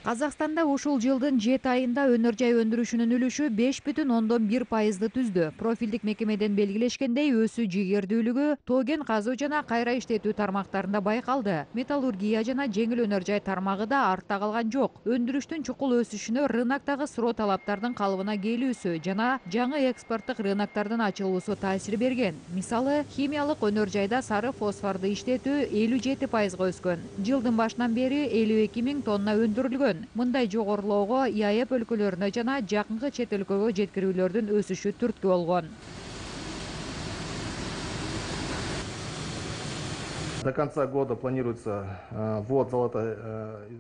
Казакстанда ушул жылдын 7 айында өнөр жай өндүрүшүнүн үлүшү 5,1%ды түздү. Профилдик мекемеден белгилешкендей, өсүү жигердүүлүгү тоген казуу жана кайра иштетүү тармактарында байкалды. Металлургия жана жеңил өнөр жай тармагы да артта калган жок. Өндүрүштүн чукул өсүшүнө рыноктогу суроо талаптардын калыбына келүүсү жана жаңы экспорттук рыноктардын ачылуусу таасир берген. Мисалы, химиялык өнөр жайда сары фосфорду иштетүү 57%га өскөн. Жылдын башынан бери 52 000 тонна өндүрүлгөн. Мындай жогорулоого ИАЭП өлкөлөрүнө жана жакынкы чет өлкөгө жеткирүүлөрдүн өсүшү түрткү болгон. До конца года планируется ввод золотой.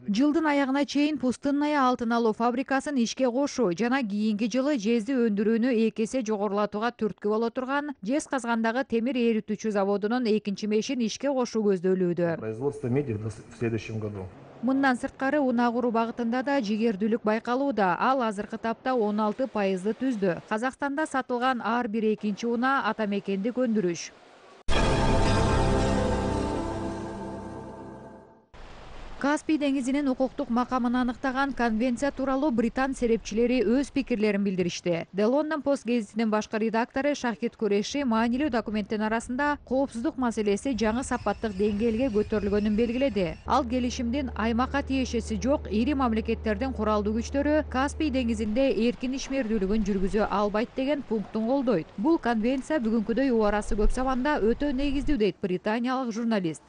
Жылдын аягына чейин пустынная алтын алуу фабрикасын ишке кошуу жана кийинки жылы жезди өндүрүүнү 2 эсе жогорулатууга түрткү боло турган жез казгандагы темир эритүүчү заводунун экинчи мешин ишке кошуу көздөлүүдө. Производство меди в следующем году. Мындан сырткары унаагуруу багытында да жигердүүлүк байкалууда. Ал азыркы тапта 16%ды түздү. Казакстанда сатылган ар бир экинчи унаа ата мекендик өндүрүш. Каспий деңизинин укуктук макамын аныктаган конвенция тууралуу британ серепчилери өз пикирлерин билдиришти. The London Post гезитинин башкы редактору Шахид Куреши маанилүү документтин арасында коопсуздук маселеси жаңы сапаттык деңгээлге көтөрүлгөнүн белгиледи. Ал келишимдин аймакка тиешеси жок ири мамлекеттердин куралдуу күчтөрү Каспий деңизинде эркин ишмердүүлүгүн жүргүзө албайт деген пунктун колдойт. Бул конвенция бүгүнкүдөй убарасы көп заманда өтө негиздүү дейт британиялык журналист.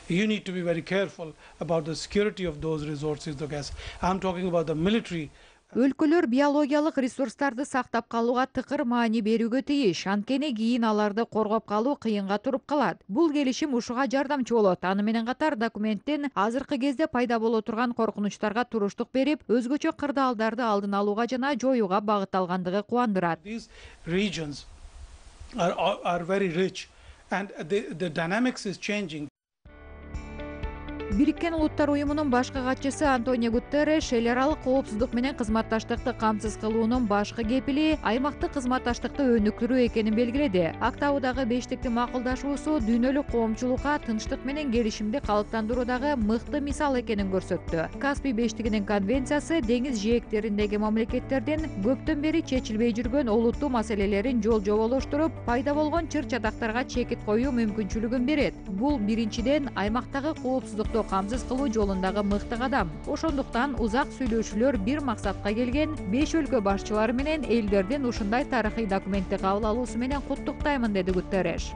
You need to be very careful about the security of those resources, the gas. I'm talking about the military. Өлкөлөр биологиялык ресурстарды сактап калууга тыкыр маани берүүгө тийиш, анткени кийин аларды коргоп калуу кыйынга туруп калат. Бул келишим ушуга жардамчы болот. Аны менен катар документтин азыркы кезде пайда боло турган коркунучтарга туруштук берип, өзгөчө кырдаалдарды алдын алууга жана жоюуга багытталгандыгы кубандырат. These regions are very rich and the dynamics is changing. Бириккен Улуттар уюмунун башкы катчысы Антонио Гутерреш эл аралык коопсуздук менен кызматташтыкты камсыз кылуунун башкы кепили аймактык кызматташтыкты өнүктүрүү экенин белгиледи. Актаудагы бештиктин макулдашуусу дүйнөлүк коомчулукка тынчтык менен келишимди калыптандыруудагы мыкты мисал экенин көрсөттү. Каспий бештигинин конвенциясы деңиз жээктериндеги мамлекеттердин көптөн бери чечилбей жүргөн олуттуу маселелерин жол жоболоштуруп, пайда болгон чыр чатактарга чекит коюу мүмкүнчүлүгүн берет. Бул биринчиден аймактагы коопсуздукту камсыз кылуу жолундагы мыкты кадам. Ошондуктан узак сүйлөшүүлөр бир максатка келген 5 өлкө башчылары менен элдердин ушундай тарыхый документти кабыл алуусу менен куттуктаймын, деди Гутерреш.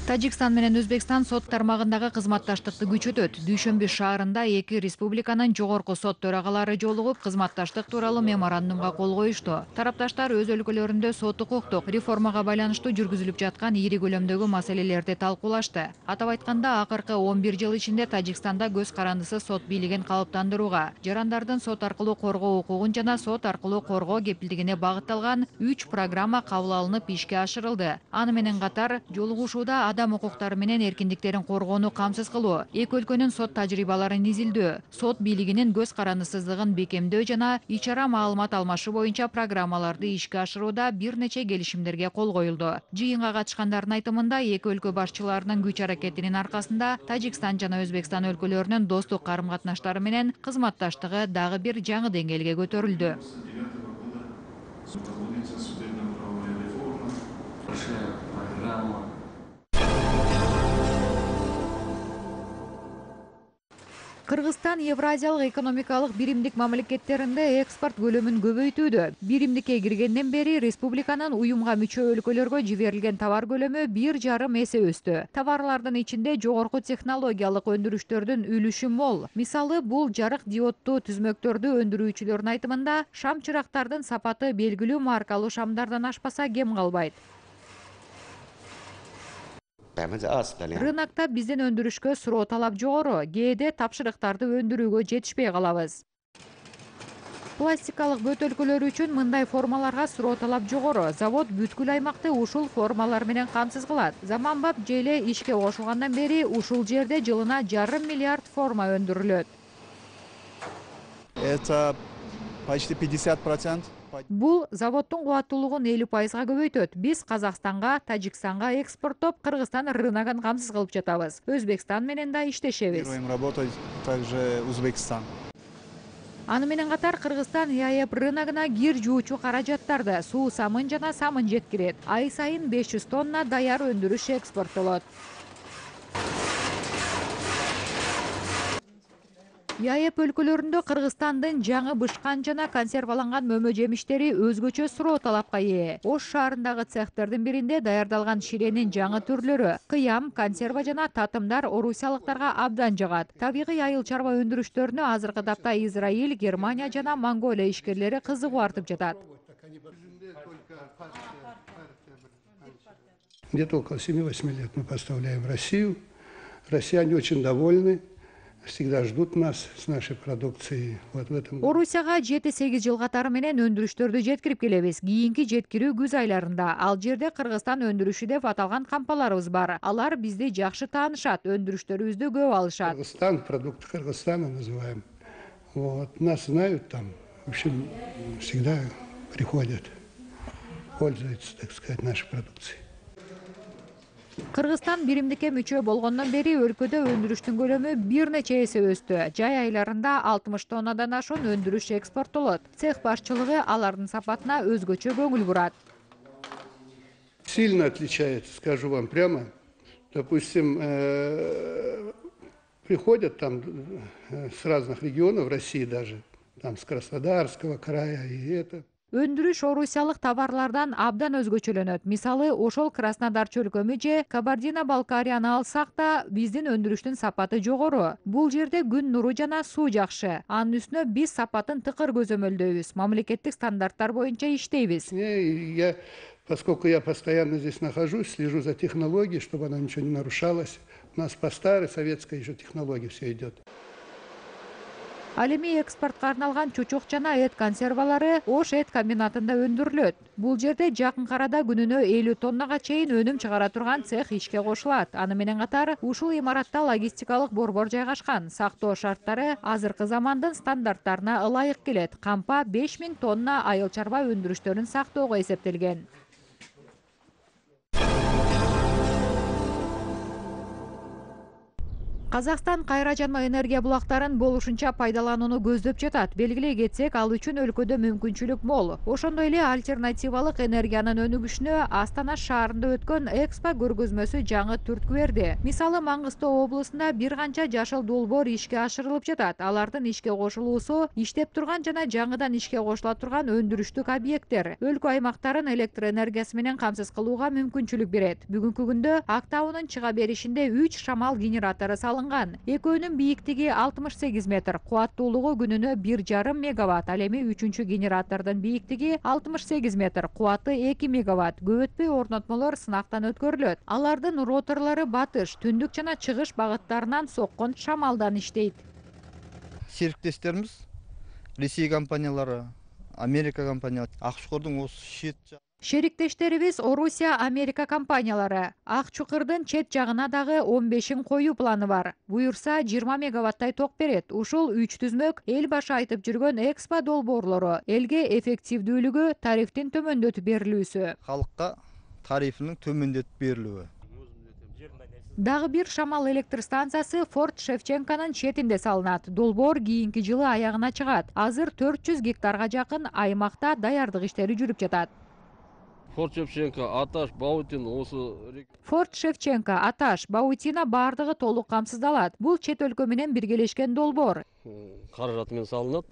Тажикстан менен Өзбекстан сот тармагындагы кызматташтыкты күчөтөт. Дүйшөмбү шаарында эки республиканын жогорку сот төрагалары жолугуп, кызматташтык тууралуу меморандумга кол коюшту. Тарапташтар өз өлкөлөрүндө сот укуктук реформага байланыштуу жүргүзүлүп жаткан ири көлөмдөгү маселелерди талкуулашты. Атап айтканда, акыркы 11 жыл ичинде Тажикстанда көз карандысыз сот бийлигин калыптандырууга, жарандардын сот аркылуу коргоо укугун жана сот аркылуу коргоо кепилдигине багытталган 3 программа кабыл алынып ишке ашырылды. Аны менен катар жолугушууда адам укуктары менен эркиндиктерин коргоону камсыз кылуу, эки өлкөнүн сот тажрыйбаларын изилдөө, сот бийлигинин көз карандысыздыгын бекемдөө жана ичара маалымат алмашуу боюнча программаларды ишке ашырууда бир нече келишимдерге кол коюлду. Жыйынга катышкандардын айтымында, эки өлкө башчыларынын күч аракетинин аркасында Тажикстан жана Өзбекстан өлкөлөрүнүн достук карым-катнаштары менен кызматташтыгы дагы бир жаңы деңгээлге көтөрүлдү. Кыргызстан Евразиялык экономикалык биримдик мамлекеттеринде экспорт көлөмүн көбөйтүүдө. Биримдикке киргенден бери республиканын уюмга мүчө өлкөлөргө жиберилген товар көлөмү 1,5 эсе өстү. Товарлардын ичинде жогорку технологиялык өндүрүштөрдүн үлүшү мол. Мисалы, бул жарык диоддуу түзмөктөрдү өндүрүүчүлөрдүн айтымында, шам чырактардын сапаты белгилүү маркалуу шамдардан ашпаса кем калбайт. Рынокто биздин өндүрүшкө суроо талап жогору, кээде тапшырыктарды өндүрүүгө жетишпей калабыз. Пластикалык бөтөлкөлөр үчүн мындай формаларга суроо талап жогору. Завод бүткүл аймакты ушул формалар менен камсыз кылат. Заманбап желе ишке кошулгандан бери ушул жерде жылына 1,5 миллиард форма өндүрүлөт. почти 50%. Бул заводдун кубаттуулугун 50%га көбөйтөт. Биз Казакстанга, Тажикстанга экспорттоп, Кыргызстан рыногун камсыз кылып жатабыз. Өзбекстан менен да иштешебиз. Планируем работать также Узбекистан. Аны менен катар Кыргызстан ЯЭП рыногуна кир жуучу каражаттарды, суу самын жана самын жеткирет. Ай сайын 500 тонна даяр өндүрүш экспорттолот. ЯЭП өлкөлөрүндө Кыргызстандын жаңы бышкан жана консерваланган мөмө жемиштери өзгөчө суроо талапка ээ. Ош шаарындагы цехтердин биринде даярдалган ширенин жаңы түрлөрү кыям, консерва жана татымдар орусиялыктарга абдан жагат. Табигый айыл чарба өндүрүштөрүнө азыркы тапта Израиль, Германия жана Монголия ишкерлери кызыгуу артып жатат. Где-то около 7-8 лет мы поставляем в Россию. Россияне очень довольны. Всегда ждут нас с нашей продукцией. Вот в этом. Орусияга 7-8 жыл катары менен өндүрүштөрдү жеткирип келебиз. Кийинки жеткирүү күз айларында. Ал жерде Кыргызстан өндүрүшү деп аталган компанияларыбыз бар. Алар бизди жакшы таанышат, өндүрүштөрүбүздү көп алышат. Кыргызстан, продукты Кыргызстана называем. Вот, нас знают там. В общем, всегда приходят, пользуются, так сказать, нашей продукцией. Кыргызстан биримдикке мүчө болгондон бери өлкөдө өндүрүштүн көлөмү бир нече эсе өстү. Жай айларында 60 тоннадан ашуун өндүрүш экспорттолот. Цех башчылыгы алардын сапатына өзгөчө көңүл бурат. Сильно отличается, скажу вам прямо. Допустим, приходят там с разных регионов России даже, там с Краснодарского края и это. Өндүрүш орусиялык товарлардан абдан өзгөчөлөнөт. Мисалы, ошол Краснодар чөлкөмү же Кабардино-Балкарияны алсак да, биздин өндүрүштүн сапаты жогору. Бул жерде күн нуру жана суу жакшы. Анын үстүнө биз сапатын тыкыр көзөмөлдөйбүз. Мамлекеттик стандарттар боюнча иштейбиз. Поскольку я постоянно здесь нахожусь, слежу за технологией, чтобы она ничего не нарушалась. У нас по старой советской еще технологии все идет. Ал эми экспортко арналган чучук жана эт консервалары Ош эт комбинатында өндүрүлөт. Бул жерде жакын арада күнүнө 50 тоннага чейин өнүм чыгара турган цех ишке кошулат. Аны менен катар ушул имаратта логистикалык борбор жайгашкан. Сактоо шарттары азыркы замандын стандарттарына ылайык келет. Кампа 5000 тонна айыл чарба өндүрүштөрүн сактоого эсептелген. Казакстан кайра жанма энергия булактарын болушунча пайдаланууну көздөп жатат. Белгилей кетсек, ал үчүн өлкөдө мүмкүнчүлүк мол. Ошондой эле альтернативалык энергиянын өнүгүшүнө Астана шаарында өткөн Экспо көргөзмөсү жаңы түрткү берди. Мисалы, Маңгыстоо облусунда бир канча жашыл долбоор ишке ашырылып жатат. Алардын ишке кошулуусу иштеп турган жана жаңыдан ишке кошула турган өндүрүштүк объекттер өлкө аймактарын электр энергиясы менен камсыз кылууга мүмкүнчүлүк берет. Бүгүнкү күндө Актауынын чыга беришинде 3 шамал генератору салынган. Экөөнүн бийиктиги 68 метр, кубаттуулугу күнүнө 1,5 мегаватт. Ал эми 3-чү генератордун бийиктиги 68 метр, кубаты 2 мегаватт. Көп өтпөй орнотмолор сынактан өткөрүлөт. Алардын роторлору батыш, түндүк жана чыгыш багыттарынан соккон шамалдан иштейт. Сериктештерибиз Ресей компаниялары, Америка компаниялары, Ак Чукурдун осы шет Шериктештерибиз Орусия, Америка компаниялары. Ак Чукурдун чет жагына дагы 15-ин коюу планы бар. Буюрса 20 мегаваттай ток берет. Ушул 3 түзмөк эл башы айтып жүргөн Экспо долбоорлору. Элге эффективдүүлүгү, тарифтин төмөндөтүп берилүүсү. Халыкка тарифинин төмөндөтүп берилүүсү. Дагы бир шамал электр станциясы Форт Шевченконун четинде салынат. Долбоор кийинки жылы аягына чыгат. Азыр 400 гектарга жакын аймакта даярдык иштери жүрүп жатат. Форт Шевченко, Аташ, Баутин, осы... Форт Шевченко, Аташ, Баутина бардыгы толук камсыздалат. Бул чет өлкө менен биргелешкен долбоор. Каражаты менен салынат.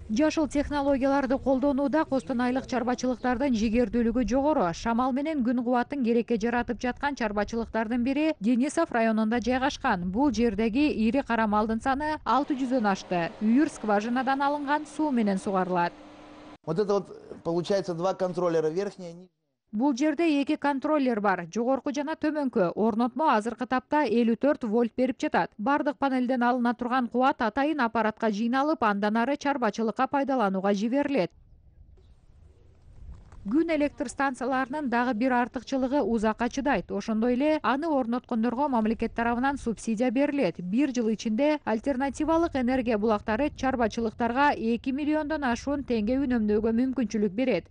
Жашыл технологияларды колдонууда костонойлык чарбачылыктардын жигердүүлүгү жогору. Шамал менен күн кубатын керекке жаратып жаткан чарбачылыктардын бири Денисов районунда жайгашкан. Бул жердеги ири кара малдын саны 600дөн ашты. Үйүр скважинадан алынган суу менен сугарылат. Вот это вот получается два контроллера, верхний и нижний. Бул жерде 2 контроллер бар. Жогорку жана төмөнкү. Орнотмо азыркы тапта 54 вольт берип жатат. Бардык панелден алына турган кубат атайын аппаратка жыйналып, андан ары чарбачылыкка пайдаланууга жиберилет. Күн электр станцияларынын дагы бир артыкчылыгы узакка чыдайт. Ошондой эле аны орноткондорго мамлекет тарабынан субсидия берилет. Бир жыл ичинде альтернативалык энергия булактары чарбачылыктарга 2 миллиондон ашуун теңге үнөмдөөгө мүмкүнчүлүк берет.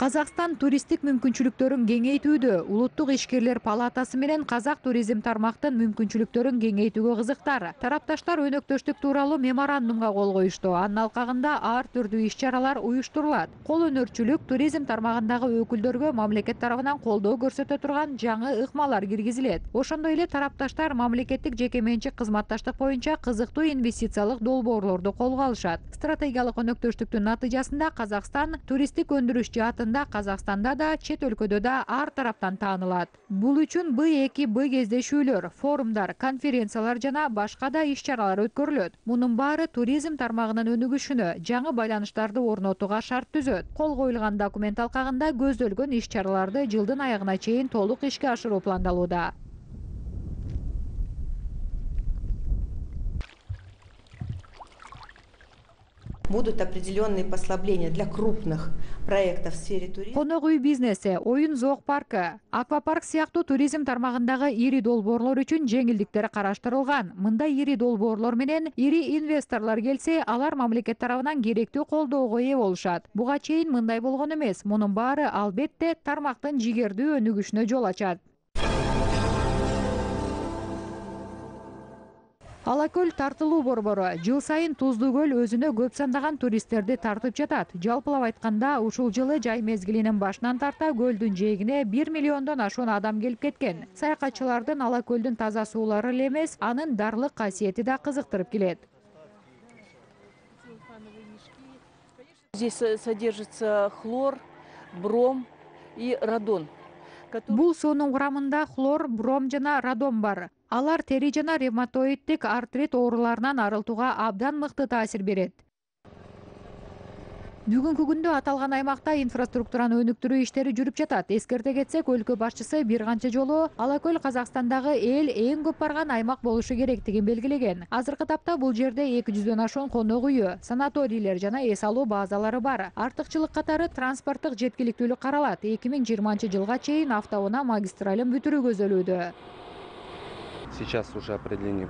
Казакстан туристтик мүмкүнчүлүктөрүн кеңейтүүдө. Улуттук ишкерлер палатасы менен казак туризм тармактын мүмкүнчүлүктөрүн кеңейтүүгө кызыктар. Тарапташтар өнөктөштүк тууралуу меморандумга кол коюшту. Анын алкагында ар түрдүү иш-чаралар уюштурулат. Кол өнөрчүлүк, туризм тармагындагы өкүлдөргө мамлекет тарабынан колдоо көрсөтө турган жаңы ыкмалар киргизилет. Ошондой эле тарапташтар мамлекеттик жеке менчик кызматташтык боюнча кызыктуу инвестициялык долбоорлорду колго алышат. Стратегиялык өнөктөштүктүн натыйжасында Казакстан туристтик өндүрүш жаатында Казакстанда да, чет өлкөдө да ар тараптан таанылат. Бул үчүн Б2Б кездешүүлөр, форумдар, конференциялар жана башка да иш-чаралар өткөрүлөт. Мунун баары туризм тармагынын өнүгүшүнө, жаңы байланыштарды орнотууга шарт түзөт. Кол коюлган документ алкагында көздөлгөн иш-чараларды жылдын аягына чейин толук ишке ашыруу пландалууда. Будут определенные послабления для крупных проектов в сфере туризма. Конок үй бизнеси, оюн зоок паркы, аквапарк сыяктуу туризм тармагындагы ири долбоорлор үчүн жеңилдиктер караштырылган. Мында ири долбоорлор менен ири инвесторлор келсе, алар мамлекет тарабынан керектүү колдоого ээ болушат. Буга чейин мындай болгон эмес. Мунун баары албетте тармактын жигердүү өнүгүшүнө жол ачат. Алакөл тартылуу борбору жыл сайын Туздуу көл өзүнө көп сандаган туристтерди тартып жатат. Жалпылап айтканда, ушул жылы жай мезгилинин башынан тарта көлдүн жээгине 1 миллиондон ашуун адам келип кеткен. Саякатчылардын Алакөлдүн таза суулары эле эмес, анын дарлык касиети да кызыктырып келет. Здесь содержится хлор, бром и радон. Бул суунун курамында хлор, бром жана радон бар. Алар тери жана ревматоиддик артрит ооруларынан арылтууга абдан мыкты таасир берет. Бүгүнкү күндө аталган аймакта инфраструктураны өнүктүрүү иштери жүрүп жатат. Эскерте кетсек, өлкө башчысы бир канча жолу Алакөл Казакстандагы эң көп барган аймак болушу керектигин белгилеген. Азыркы тапта бул жерде 200дөн ашуун конок үйү, санаторийлер жана эс алуу базалары бар. Артыкчылык катары транспорттук жеткиликтүүлүк каралат. 2020 жылга чейин автоунаа магистралын бүтүрүү көзөлүүдө. Сейчас уже определены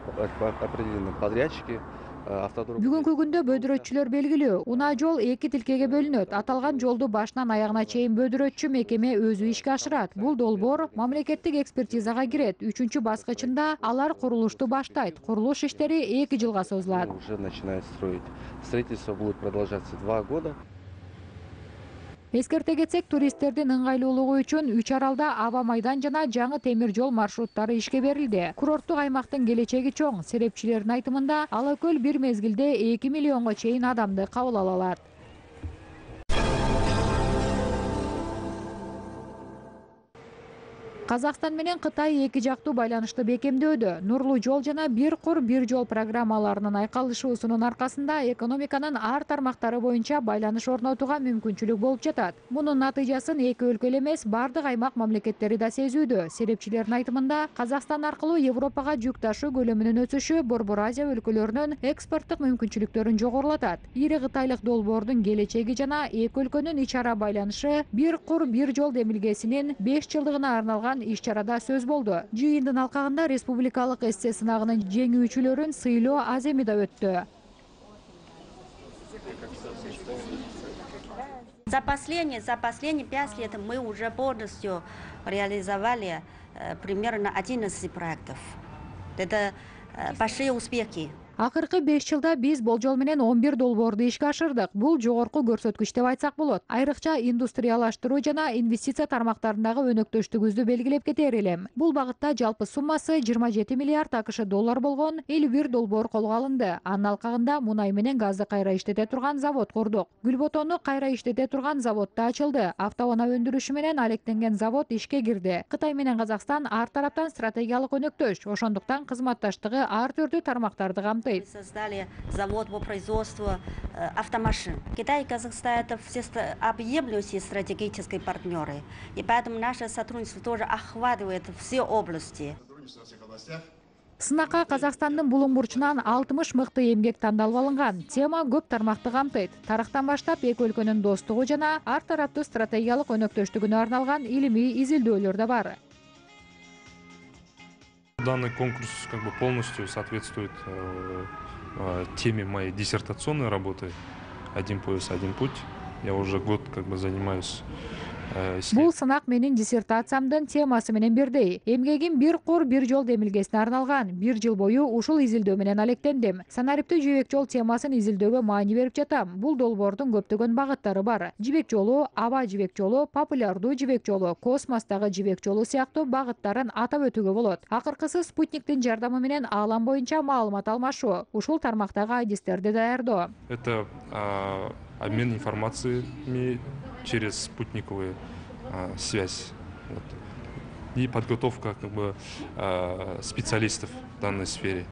подрядчики. Бүгүнкү күндө бөдүрөтчүлөр белгилүү. Унаа жол 2 тилкеге бөлүнөт. Аталган жолду башынан аягына чейин бөдүрөтчү мекеме өзү ишке ашырат. Бул долбоор мамлекеттик экспертизага кирет. 3-чү баскычында алар курулушту баштайт. Курулуш иштери 2 жылга созулат. Уже начинают строить. Строительство будет продолжаться 2 года. Эскерте кетсек, туристтердин ыңгайлуулугу үчүн 3 аралда аба майдан жана жаңы темир жол маршруттары ишке берилди. Курорттук аймактын келечеги чоң. Серепчилердин айтымында, Алакөл бир мезгилде 2 миллионго чейин адамды кабыл ала алат. Казакстан менен Кытай эки жактуу байланышты бекемдөөдө. Нурлуу жол жана бир кур бир жол программаларынын айкалышуусунун аркасында экономиканын ар тармактары боюнча байланыш орнотууга мүмкүнчүлүк болуп жатат. Мунун натыйжасын эки өлкө эле эмес, бардык аймак мамлекеттери да сезүүдө. Серепчилердин айтымында, Казакстан аркылуу Европага жүк ташуу көлөмүнүн өсүшү Борбор Азия өлкөлөрүнүн экспорттук мүмкүнчүлүктөрүн жогорулатат. Ири кытайлык долбоордун келечеги жана эки өлкөнүн ич ара байланышы бир кур бир жол демилгесинин 5 жылдыгына арналган иш-чарада сөз болду. Жыйындын алкагында республикалык эссе сынагынын жеңүүчүлөрүн сыйлоо Аземида өттү. За последние 5 лет мы уже полностью реализовали примерно 11 проектов. Это большие успехи. Акыркы 5 жылда биз болжол менен 11 долбоорду ишке ашырдык. Бул жогорку көрсөткүч деп айтсак болот. Айрыкча индустриялаштыруу жана инвестиция тармактарындагы өнөктөштүгүбүздү белгилеп кетер элем. Бул багытта жалпы суммасы 27 миллиард АКШ доллар болгон 51 долбоор колго алынды. Анын алкагында мунай менен газды кайра иштете турган завод курдук. Гүлботону кайра иштете турган завод да ачылды. Автоунаа өндүрүшү менен алектенген завод ишке кирди. Кытай менен Казакстан ар тараптан стратегиялык өнөктөш, ошондуктан кызматташтыгы ар түрдүү тармактарды камтыйт. камтыйт. Создали завод по производству автомашин. Китай и Казахстан — это все объемлющие стратегические партнеры. И поэтому наше сотрудничество тоже охватывает все области. Сынакка Казакстандын булуң бурчунан 60 мыкты эмгек тандалып алынган. Тема көп тармакты камтыйт. Тарыхтан баштап эки өлкөнүн достугу жана ар тараптуу стратегиялык өнөктөштүгүнө арналган илимий изилдөөлөр да бар. Данный конкурс полностью соответствует теме моей диссертационной работы «Один пояс, один путь». Я уже год занимаюсь. Бул сынак менин диссертациямдын темасы менен бирдей. Эмгегим бир кур бир жол демилгесине арналган. Бир жыл бою ушул изилдөө менен алектендим. Санариптүү жибек жол темасын изилдөөгө маани берип жатам. Бул долбоордун көптөгөн багыттары бар. Жибек жолу, аба жибек жолу, популярдуу жибек жолу, космостогу жибек жолу сыяктуу багыттарын атап өтүүгө болот. Акыркысы спутниктин жардамы менен аалам боюнча маалымат алмашуу. Ушул тармактагы адистерди даярдоо. Это обмен информациями через спутниковую связь и подготовка специалистов в данной сфере.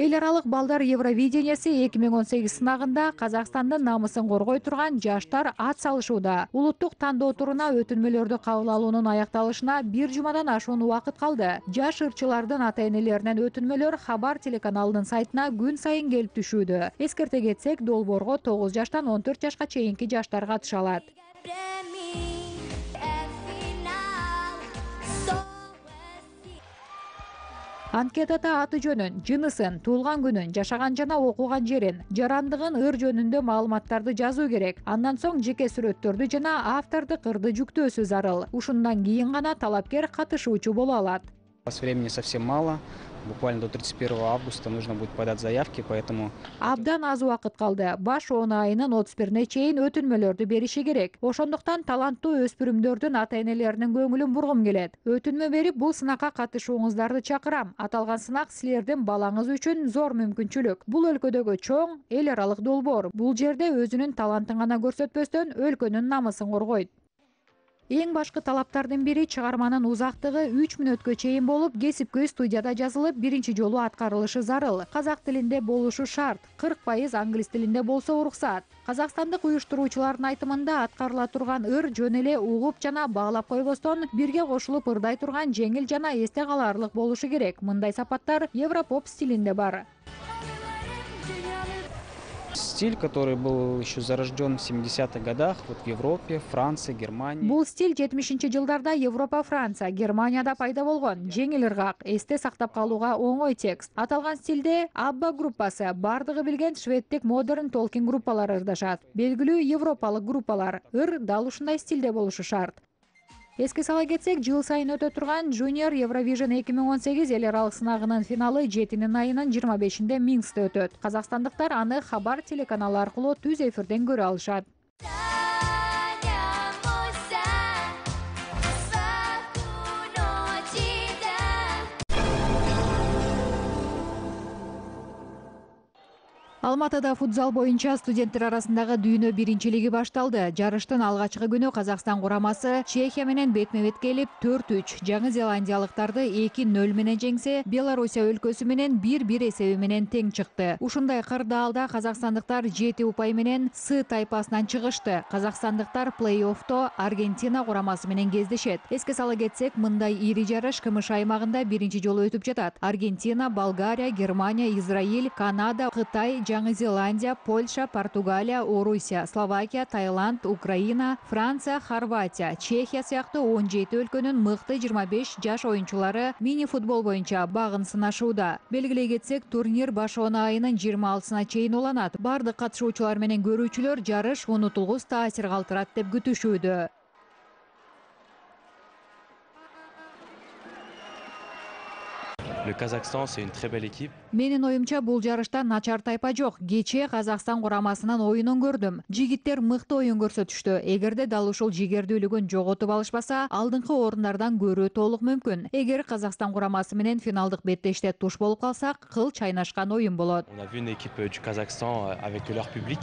Эл аралык балдар Евровидениясы 2018 сынагында Казакстандын намысын коргой турган жаштар ат салышууда. Улуттук тандоо туруна өтүнмөлөрдү кабыл алуунун аякталышына бир жумадан ашуун убакыт калды. Жаш ырчылардын ата-энелеринен өтүнмөлөр Хабар телеканалынын сайтына күн сайын келип түшүүдө. Эскерте кетсек, долбоорго 9 жаштан 14 жашка чейинки жаштар катыша алат. Анкетада аты жөнүн, жынысын, туулган күнүн, жашаган жана окуган жерин, жарандыгын, ыр жөнүндө маалыматтарды жазуу керек. Андан соң жеке сүрөттөрдү жана автордук ырды жүктөөсү зарыл. Ушундан кийин гана талапкер катышуучу боло алат. Времени совсем мало. Буквально до 31 августа нужно будет подать заявки, поэтому... Абдан аз убакыт калды. Баш 10 айынын 31-не чейин өтүнмөлөрдү бериши керек. Ошондуктан таланттуу өспүрүмдөрдүн ата-энелеринин көңүлүн бургум келет. Өтүнмө берип, бул сынакка катышууңуздарды чакырам. Аталган сынак силердин балаңыз үчүн зор мүмкүнчүлүк. Бул өлкөдөгү чоң эл аралык долбоор. Бул жерде өзүнүн талантын гана көрсөтпөстөн өлкөнүн намысын коргойт. Эң башкы талаптардын бири чыгарманын узактыгы 3 мүнөткө чейин болуп, кесипкөй студияда жазылып, биринчи жолу аткарылышы зарыл. Казак тилинде болушу шарт, 40% англис тилинде болсо уруксат. Казакстандык уюштуруучулардын айтымында аткарыла турган ыр жөн эле угуп жана баалап койбостон, бирге кошулуп ырдай турган жеңил жана эсте калаарлык болушу керек. Мындай сапаттар европоп стилинде бар. Стиль, который был еще зарожден в 70-х годах в Европе, Франции, Германии. Бул стиль 70-жылдарда Европа, Франция, Германияда пайда болгон. Жеңил ыргак, эсте сактап калууга оңой текст. Аталган стилде Абба группасы, бардыгы билген шведтик модерн толкин группалары ырдашат. Белгилүү европалык группалар. Ыр дал ушундай стилде болушу шарт. Эске сала кетсек, жыл сайын өтө турган Junior Eurovision 2018 эл аралык сынагынын финалы 7 айынын 25-inde Минскте өтөт. Казакстандыктар аны Хабар телеканалы аркылуу түз эфирден көрө алышат. Алматыда футзал боюнча студенттер арасындагы дүйнө биринчилиги башталды. Жарыштын алгачкы күнү Казакстан курамасы Чехия менен бетме-бет келип 4-3, Жаңы Зеландиялыктарды 2-0 менен жеңсе, Белоруссия өлкөсү менен 1-1 эсеби менен тең чыкты. Ушундай кырдаалда казакстандыктар 7 упай менен С тайпасынан чыгышты. Казакстандыктар плей-оффто Аргентина курамасы менен кездешет. Эске сала кетсек, мындай ири жарыш КМШ аймагында биринчи жолу өтүп жатат. Аргентина, Болгария, Германия, Израиль, Канада, Кытай, Жаңы Зеландия, Польша, Португалия, Орусия, Словакия, Таиланд, Украина, Франция, Хорватия, Чехия сыяктуу 17 өлкөнүн мыкты 25 жаш оюнчулары мини-футбол боюнча багын сынашууда. Белгилей кетсек, турнир баш 10 айынын 26-сына чейин уланат. Бардык катышуучулар менен көрүүчүлөр жарыш унутулгус таасир калтырат деп күтүшүүдө. Le Kazakhstan, c'est une très belle équipe. Менин оюмча бул жарышта начар тайпа жок. Кечээ Казакстан курамасынын оюнун көрдүм. Жигиттер мыкты оюн көрсөтүштү. Эгерде дал ушул жигердүүлүгүн жоготуп алышпаса, алдыңкы орундардан көрүү толук мүмкүн. Эгер Казакстан курамасы менен финалдык беттеште туш болуп калсак, кыл чайнашкан оюн болот. On a vu une équipe du Kazakhstan avec leur public.